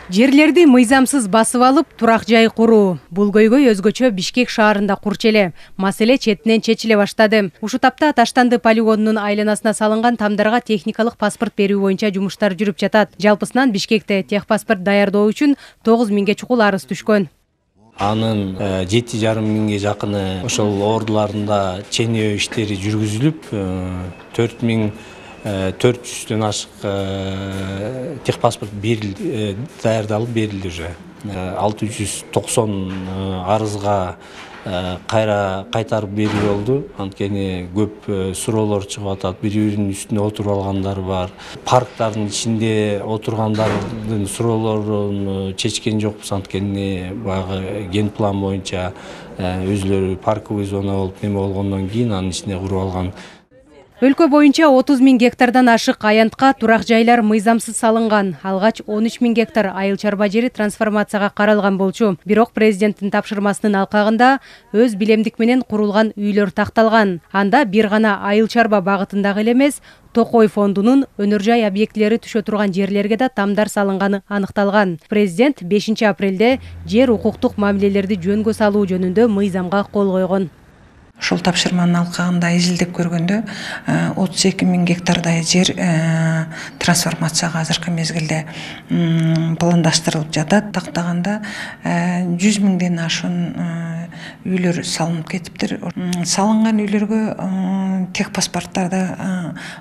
Жерлерди мыйзамсыз басып алып, турак жай куруу. Бул көйгөй өзгөчө Бишкек шаарында курч эле. Маселе четинен чечиле баштады. Ушу тапта Таштанды полигонунун айланасына салынган тамдарга техникалык паспорт берүү боюнча жумуштар жүрүп жатат. Жалпысынан Бишкекте техпаспорт даярдоо үчүн 9 миңге чукул арыз түшкөн. Анын 7,5 миңге жакыны ошол ордуларында ченөө иштери жүргүзүлүп, 4,400дөн ашык техпаспорт даярдалып берилди уже. 690 арызга кайтарып берүү болду. Анткени көп суроолор чыгып атат. Бири-биринин үстүнө отуруп алгандар бар. Парктардын ичинде отургандардын суроолорун чечкен жокпуз. Анткени баягы ген план боюнча өзүлөрү парковый зона болуп неме болгондон кийин анын ичине куруп алган. Өлкө боюнча 30 миң гектардан ашык аянтка турак жайлар мыйзамсыз салынган. Алгач 13 миң гектар айыл чарба жери трансформацияга каралган болчу. Бирок президенттин тапшырмасынын алкагында өз билемдик менен курулган үйлөр такталган. Анда бир гана айыл чарба багытындагы эле эмес, Токой фондунун өнөр жай объектилери түшө турган жерлерге да тамдар салынганы аныкталган. Президент 5 апрелде жер укуктук мамилелерди жөнгө салуу жөнүндө мыйзамга кол койгон. Ошол тапшырманын алкагында изилдеп көргөндө 32 миң гектардай жер трансформацияга азыркы мезгилде пландаштырылып жатат. Тактаганда 100 миңден ашуун үйлөр салынып кетиптир. Салынган үйлөргө техпаспорттарды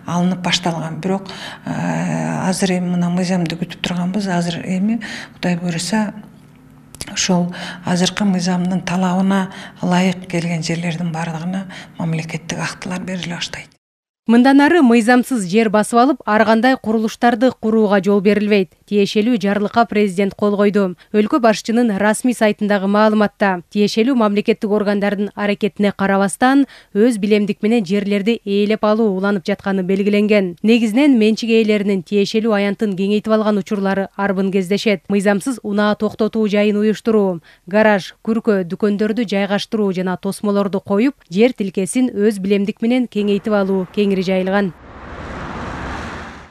алынып башталган. Бирок азыр эми мына мыйзамды күтүп турганбыз. Азыр эми Кудай буйруса ошол азыркы мыйзамдын талабына ылайык келген жерлердин бардыгына мамлекеттик актылар бериле баштайт. Мындан ары мыйзамсыз жер басып алып, ар кандай курулуштарды курууга жол берилбейт. Тиешелүү жарлыкка президент кол койду. Өлкө башчынын расмий сайтындагы маалыматта тиешелүү мамлекеттик органдардын аракетине карабастан өз билемдик менен жерлерди ээлеп алуу уланып жатканы белгиленген. Негизинен менчик ээлеринин тиешелүү аянтын кеңейтип алган учурлары арбын кездешет. Мыйзамсыз унаа токтотуу жайын уюштуруу, гараж, күркө, дүкөндөрдү жайгаштыруу жана тосмолорду коюп, жер тилкесин өз билемдик менен кеңейтип алуу жайылган.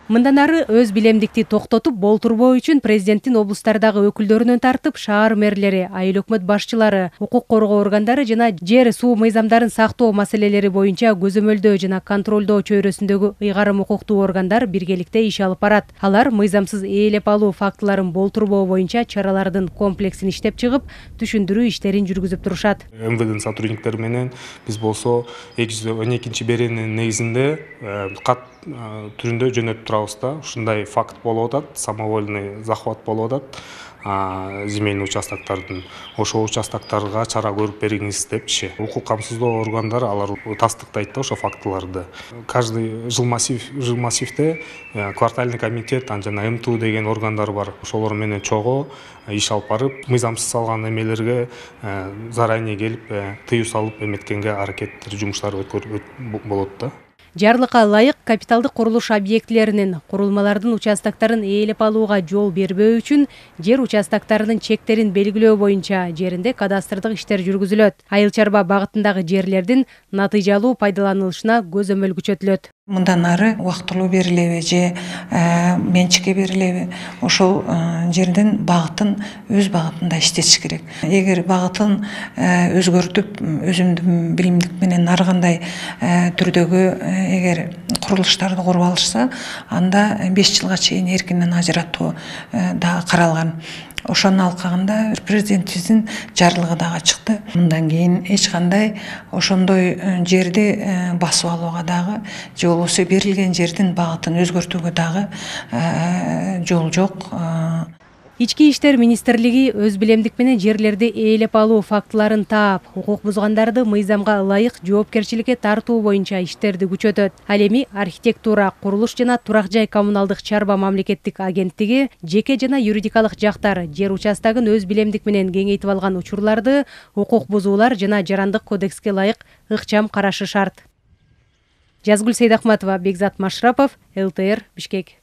Мындан ары өз билемдикти токтотуп болтурбоо үчүн президенттин облустардагы өкүлдөрүнөн тартып шаар мэрлери, айыл өкмөт башчылары, укук коргоо органдары жана жер суу мыйзамдарын сактоо маселелери боюнча көзөмөлдөө жана контролдоо чөйрөсүндөгү ыйгарым укуктуу органдар биргеликте иш алып барат. Алар мыйзамсыз ээлеп алуу фактыларын болтурбоо боюнча чаралардын комплексин иштеп чыгып, түшүндүрүү иштерин жүргүзүп турушат. МВДнын сотрудниктери менен биз болсо 212-беренин негизинде кат түрүндө жөнөтүп турабыз да. Ушундай факт болуп атат, самовольный захват болуп атат земельный участоктордун. Ошол участокторго чара көрүп бериңиз депчи. Укук камсыздоо органдары алар тастыктайт да ошол фактыларды. Каждый жилмассивде квартальный комитет жана МТУ деген органдар бар. Ошолор менен чогуу иш алып барып, мыйзамсыз салган эмелерге заранее келип, тыюу салып эметкенге аракеттер, жумуштар болот да. Жарлыкка ылайык капиталдык курулуш объектилеринин, курулмалардын участоктарын ээлеп алууга жол бербөө үчүн жер участоктарынын чектерин белгилөө боюнча жеринде кадастрдык иштер жүргүзүлөт. Айыл чарба багытындагы жерлердин натыйжалуу пайдаланылышына көзөмөл күчөтүлөт. Мындан ары убактылуу берилеби же менчикке берилеби, ошол жердин багытын өз багытында иштетиш керек. Эгер багытын өзгөртүп, өзүмдүн билимдик менен ар кандай түрдөгү эгер курулуштарды куруп алышса, анда 5 жылга чейин эркинен ажыратуу да каралган. Ошонун алкагында президентибиздин жарлыгы дагы чыкты. Мындан кийин эч кандай ошондой жерди басып алууга дагы же болбосо берилген жердин багытын өзгөртүүгө дагы жол жок. Ички иштер министрлиги өз билемдик менен жерлерди ээлеп алуу фактыларын таап, укук бузгандарды мыйзамга ылайык жоопкерчиликке тартуу боюнча иштерди күчөтөт. Ал эми архитектура, курулуш жана турак жай коммуналдык чарба мамлекеттик агенттиги жеке жана юридикалык жактар жер участогун өз билемдик менен кеңейтип алган учурларды укук бузуулар жана жарандык кодекске ылайык ыкчам карашы шарт. Жазгүл Сейдахматова, Бекзат Машрапов, ЛТР, Бишкек.